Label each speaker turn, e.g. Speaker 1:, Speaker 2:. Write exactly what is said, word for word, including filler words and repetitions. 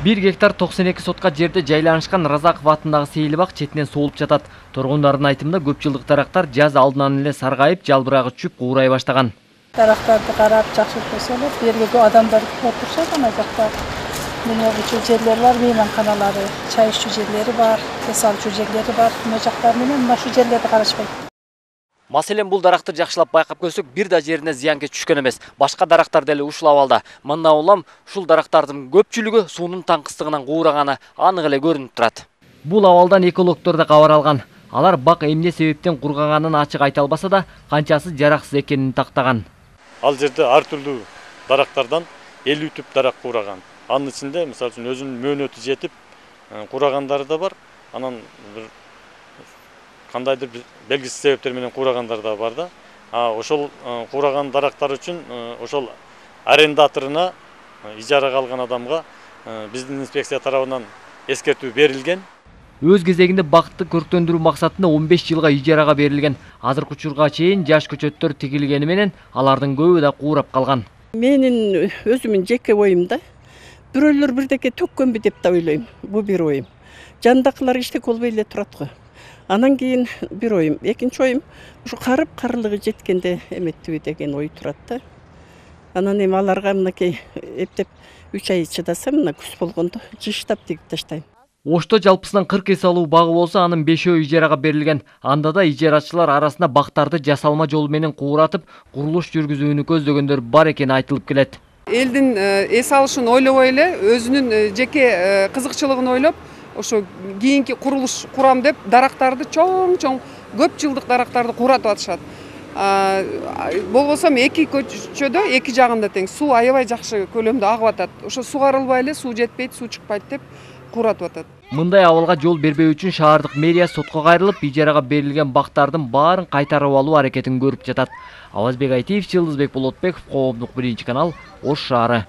Speaker 1: бир гектар токсон эки сотка жерде жайланышкан Разаков атындагы сейилбак четинен соолуп жатат. Тургундардын айтымында көп жылдык дарактар жаз алдынан эле саргайып, жалбырагы түшүп, куурай баштаган.
Speaker 2: Дарактарды карап жакшы көрсөлөр, бу жерге адамдар отурушат, ана жакта мына бу жерлер бар, мейманканалары, чай ичүү жерлери бар, эс алчу жерлери бар. Мына жактар менен мына шу жерлерди карашпайт.
Speaker 1: Маселен, бул даракты жакшылап байкап көрсөк, бир да жерине зыянкеч түшкөн эмес. Башка дарактар деле ушул абалда. Мында улам ушул дарактардын көпчүлүгү суунун таңкыстыгынан куураганы анык эле көрүнүп турат. Бул абалдан экологдор да кабар алган. Алар бак эмне себептен кургаганын ачык айта албаса да, канчасы жараксыз экенин тактаган.
Speaker 3: Ал жерде ар түрдүү дарактардан элүү түп дарак куураган. Анын ичинде, мисалы үчүн, өзүнүн мөөнөтү жетип куурагандары да бар. Анан бир кандайдыр белгисиз себептер менен куурагандар да бар да. А ошол куураган дарактар үчүн ошол арендаторуна, ижарага алган адамга биздин инспекция тарабынан эскертүү берилген.
Speaker 1: Өз кезегинде бакытты көрктөндүрүү максатында он беш жылга ижарага берилген. Азыркы учурга чейин жаш көчөттөр тигилгени менен алардын көбү да куурап калган.
Speaker 4: Менин өзүмүн жеке оюмда бирөөлөр бирдеке төккөнбү деп да ойлойм. Бу бир оюм. Жандакылар иштек болбой эле турат го. Анан кийин бир оюм. Экинчи оюм ушу карып карылыгы жеткенде эметтиби деген ой турат да. Анан эми аларга мынакей эптеп үч ай чыдаса, мына күз болгондо жыштап тигип таштайм.
Speaker 1: Ошто жалпысынан кырк эс алуу багы болсо, анын бешөө ижарага берилген. Анда да ижарачылар арасында бактарды жасалма жол менен кууратып, курулуш жүргүзүүнү көздөгөндөр бар экени айтылып келет.
Speaker 5: Элдин эс алышын ойлобой эле, өзүнүн жеке кызыкчылыгын ойлоп, ошо кийинки курулуш курам деп дарактарды чоң-чоң көп жылдык дарактарды кууратып атышат. Болбосо эки көчөдө эки жагында тең суу аябай жакшы көлөмдө агып атат. Ошо сугарылбай эле, суу жетпейт, суу чыкпайт деп кууратып атат.
Speaker 1: Мындай абалга жол бербөө үчүн шаардык мэрия сотко кайрылып, ижарага берилген бактардын баарын кайтарып алуу аракетин көрүп жатат. Авазбек Айтиев, Жылдызбек Болотбеков, Коомдук биринчи канал, Ош шаары.